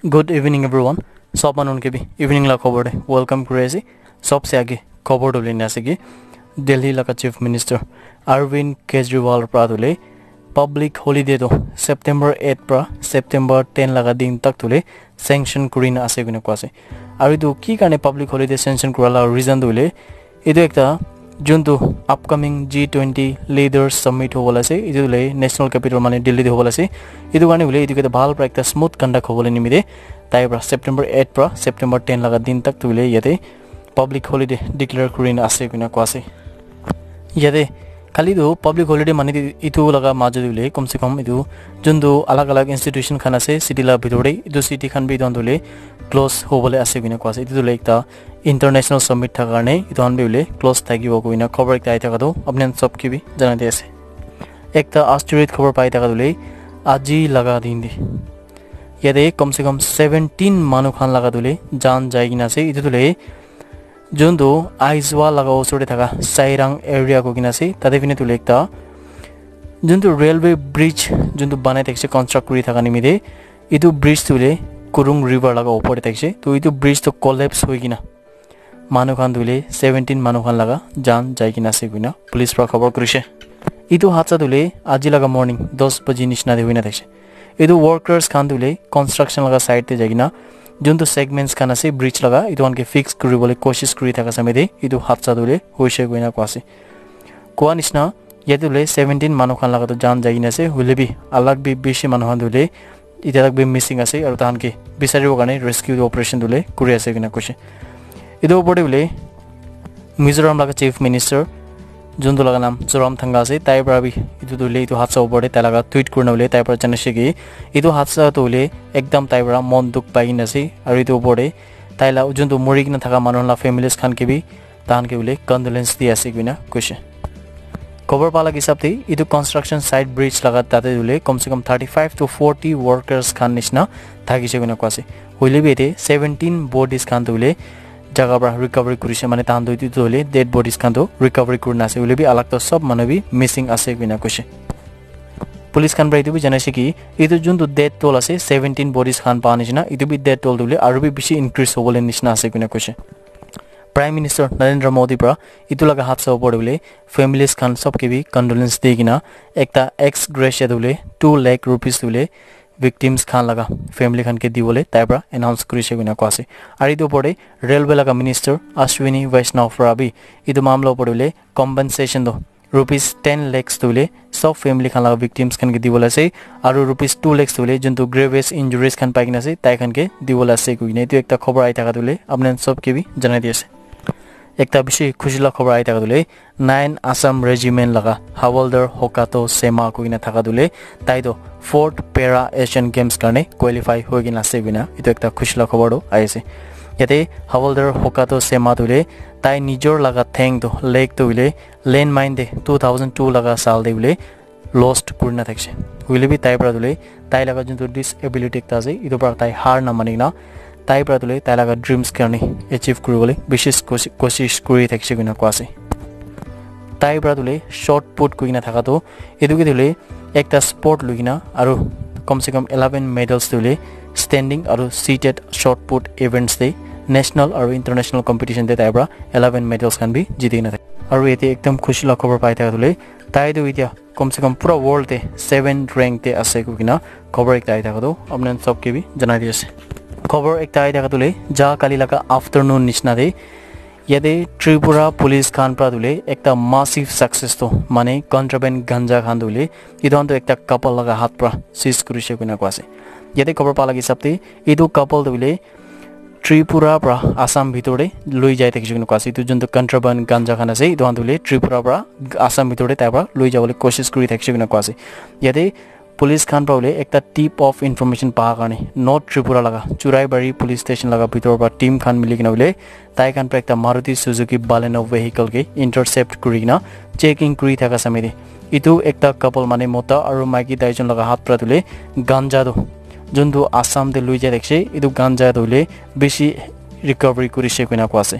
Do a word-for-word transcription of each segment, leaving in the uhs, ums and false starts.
Good evening everyone. Sob manun ke bi evening la khobor de welcome kuri ase. Sob se age khobor to lina ase ki Delhi laga Chief Minister Arvind Kejriwal pra to le public holiday to September eight pra September ten laga din tak to le sanction kuri na ase koina koa ase. Aru etu ki karne public holiday sanction kura la reason to hoile etu ekta juntu upcoming G twenty leaders summit hobo la ase, etu le national capital mane Delhi te hobo la ase. Etu karne hoile etu ke bhal pra ekta smooth conduct hobo le nimite tai pra September eight pra September ten laga din tak tu hoile yate public holiday declare kuri na ase koina koa ase. Yate khali tu public holiday mane etu laga majo tu hoile kom se kom etu juntu alag alag institution khan ase city la bitor te, etu city khan bi etu hoile close hobo le ase koina koa ase. Etu hoile ekta international summit thaka karne etu khan bi hoile close thakibo koina khobor ekta ahi thaka toh apni khan sob ke bi janai di ase. Ekta asteroid khobor pai thaka toh hoile aji laga din te yate kom se kom seventeen manu khan laga toh hoile jaan jai kena ase. Etu toh hoile juntu Aizawl laga osor te thaka Sairang area koi kena ase. Tate phine toh hoile ekta juntu railway bridge juntu banai thakise construct kuri thaka nimite etu bridge toh hoile Kurung river laga opor te thakise. Toh etu bridge toh collapse hoi kena manu khan toh hoile seventeen manu khan laga jaan jai kena ase koina police pra khobor kurise. Etu hadsa toh hoile aji laga morning dos baji nishina te hoina thakise. Etu workers khan toh hoile construction laga side te jai kena juntu segments khan ase bridge laga etu khan ke fix kuribole koshish kuri thaka samay te etu hadsa toh hoile hoise koina koa ase. Koa nishina yate hoile seventeen manu khan laga toh jaan jai kena ase, hoile bi alag bi bishi manu khan toh hoile itya tak bi missing ase aru tahan ke bisaribo karne rescue operation toh hoile kuri ase koina koise. Etu opor te hoile Mizoram laga Chief Minister juntu laga naam Zoram Thanga ase, tai pra bi etu toh hoile etu hadsa opor te tai laga tweet kurina hoile tai pra janaise ki etu hadsa toh hoile ekdam tai pra mon dukh pai kena ase aru etu opor te tai la juntu mori kena thaka manu la families khan ke bi tahan ke hoile condolence di ase koina koise. Khobor pa laga hisab te etu construction site bridge laga tate hoile kom se kom thirty five to forty workers khan nishina thakise koina koa ase. Hoile bi yate seventeen bodies khan toh hoile jaga pra recovery kurise, mane tahan toh etu toh hoile dead bodies khan toh recovery kurina ase, hoile bi alag toh sob manu bi missing ase koina koise. Police khan pra etu bi janaise ki etu juntu death toll ase seventeen bodies khan pa nishina, etu bi death toll toh hoile aru bi bishi increase hobole nishina ase koina koise. Prime Minister Narendra Modi pra etu laga hadsa opor te hoile families khan sob ke bi condolence di kena ekta ex gratia toh hoile two lakh rupees toh hoile victims khan laga family khan ke dibole tai pra announce kurise koina koa ase. Aru etu opor te railway laga minister Ashwini Vaishnaw pra bi etu mamla opor te hoile compensation toh rupees ten lakhs toh hoile sob family khan laga victims khan ke dibole ase aru rupees two lakhs toh hoile juntu grievous injuries khan pai kena ase tai khan ke dibole ase koina etu ekta khobor ahi thaka toh hoile apni khan sob ke bi janai di ase. Ekta bishi khushi la khobor ahi thaka toh hoile nine Assam Regiment laga Havaldar Hokato Sema koina thaka toh hoile tai toh fourth Para Asian Games karne qualify hoi kena ase koina etu ekta khushi la khobor toh ahi ase. Yate Havaldar Hokato Sema toh hoile tai nijor laga theng toh leg toh hoile landmine te two thousand two laga saal te hoile lost kurina thakise. Hoile bi tai pra toh hoile tai laga juntu disability ekta ase etu pra tai har na mani kena tai pra toh hoile tai laga dreams karne achieve kuribole bishi koshi- koshish kuri thakise koina koa ase. Tai pra toh hoile shot put kuri kena thaka toh etu ke toh hoile ekta sport loi kena aru kom se kom eleven medals toh hoile standing aru seated shot put events te national aru international competition te tai pra eleven medals khan bi jiti kena thake. Aru yate ekdam khushi la khobor pai thaka toh hoile tai toh itya kom se kom pura world te seven rank te ase koi kena khobor ekta ahi thaka toh apni khan sob ke bi janai di ase. Khobor ekta ahi thaka toh hoile ja kali laga afternoon nishina te yate Tripura police khan pra toh hoile ekta massive success toh mane contraband ganja khan toh hoile etu khan toh ekta couple laga hath pra seize kurise koina koa ase. Yate khobor pa laga hisab te etu couple toh hoile Tripura pra Assam bitor te loi jai thakise koina koa ase. Etu juntu contraband ganja khan ase etu khan toh hoile Tripura pra Assam bitor te tai pra loi jabole koshish kuri thakise koina koa ase. Yate police khan pra hoile ekta tip of information pa karne North Tripura laga Churaibari police station laga bitor pra team khan mili kena hoile tai khan pra ekta Maruti Suzuki Baleno vehicle ke intercept kuri kena checking kuri thaka samay te etu ekta couple mane mota aru maiki tai jon laga hath pra toh hoile ganja toh juntu Assam te loi jai thakise etu ganja toh hoile bishi recovery kurise koina koa ase.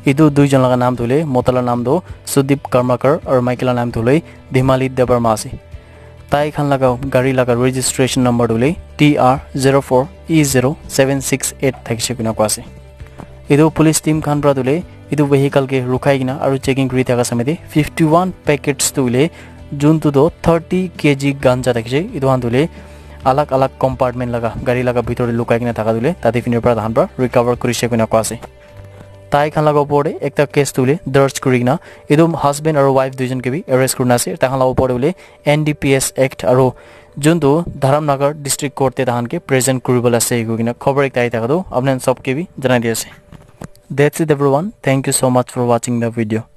Etu dui jon laga naam toh hoile mota la naam toh Sudip Karmakar aru maiki la naam toh hoile Dimali Debbarma ase. Tai khan laga gari laga registration number tu hoile T R zero four E zero seven six eight thakise koina koa ase. Etu police team khan para tu hoile etu vehicle ke rukhai kena aru checking kuri thaka samay te fifty one packets tu hoile juntu tu thirty K G ganja thakise, etu khan tu hoile alag alag compartment laga gari laga bhitor te lukai kena thaka tu hoile tate phine para tahan para recover kurise koina koa ase. Tai khan laga opor te ekta case tu hoile darj kuri kena etu husband aru wife duijon ke bi arrest kurina ase. Tai khan laga opor te hoile N D P S Act aru juntu Dharamnagar District Court te tahan ke present kuribole ase koikena khobor ekta ahi thaka tu apni khan sob ke bi janai di ase. That's it everyone. Thank you so much for watching the video.